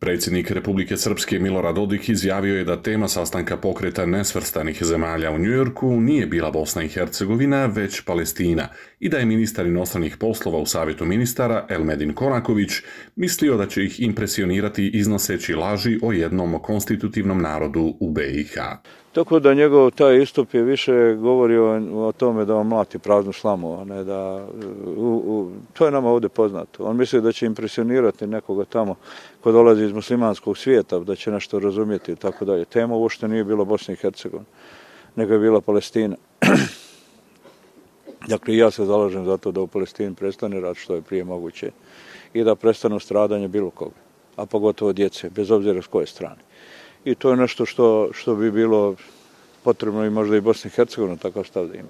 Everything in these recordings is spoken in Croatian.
Predsjednik Republike Srpske Milorad Dodik izjavio je da tema sastanka pokreta nesvrstanih zemalja u Njujorku nije bila Bosna i Hercegovina, već Palestina i da je ministar inostranih poslova u Savjetu ministara Elmedin Konaković mislio da će ih impresionirati iznoseći laži o jednom konstitutivnom narodu u BiH. Tako da njegov taj istup je više govorio o tome da on mlati praznu slamu, a ne da... To je nama ovdje poznato. On misli da će impresionirati nekoga tamo ko dolazi iz muslimanskog svijeta, da će nešto razumjeti i tako dalje. Tema uopšte nije bila Bosna i Hercegovina, nego je bila Palestina. Dakle, ja se zalažem za to da u Palestini prestane rat što je prije moguće i da prestanu stradanje bilo koga, a pogotovo djece, bez obzira s koje strane. I to je nešto što bi bilo potrebno i možda i Bosni i Hercegovina takav stav da ima.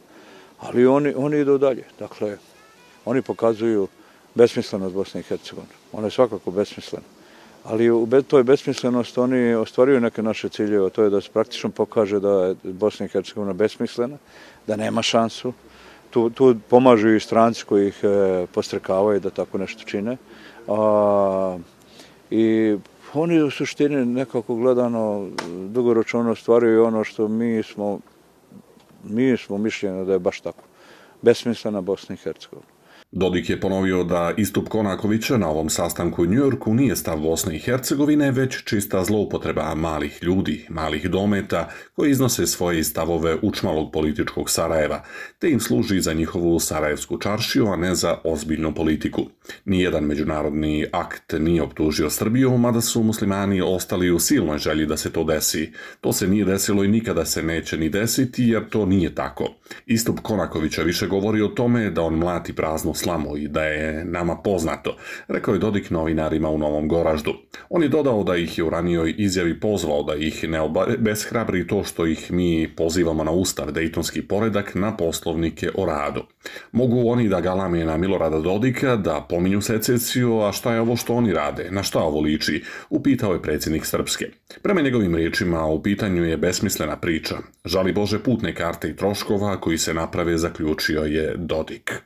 Ali oni idu dalje. Dakle, oni pokazuju besmislenost Bosne i Hercegovine. Ona je svakako besmislena. Ali u toj besmislenosti oni ostvaruju neke naše ciljeve, to je da se praktično pokaže da je Bosna i Hercegovina besmislena, da nema šansu. Tu pomažu i stranci koji ih podstrekavaju da tako nešto čine. I oni u suštini nekako gledano dugoročno ostvaruju ono što mi smo mišljeni da je baš tako. Besmislena Bosna i Hercegovina. Dodik je ponovio da istup Konakovića na ovom sastanku u Njujorku nije stav Bosne i Hercegovine, već čista zloupotreba malih ljudi, malih dometa koji iznose svoje stavove učmalog političkog Sarajeva, te im služi za njihovu sarajevsku čaršiju, a ne za ozbiljnu politiku. Nijedan međunarodni akt nije optužio Srbiju, mada su muslimani ostali u silnoj želji da se to desi. To se nije desilo i nikada se neće ni desiti, jer to nije tako. Istup Konakovića više govori o tome da on mlati praznu slamu i da je nama poznato, rekao je Dodik novinarima u Novom Goraždu. On je dodao da ih je u ranijoj izjavi pozvao da ih ne obeshrabri to što ih mi pozivamo na ustav, dejtonski poredak, na poslovnike o radu. Mogu oni da galame na Milorada Dodika, da pominju secesiju, a šta je ovo što oni rade, na šta ovo liči, upitao je predsjednik Srpske. Prema njegovim riječima, u pitanju je besmislena priča. Žali Bože putne karte i troškova koji se naprave, zaključio je Dodik.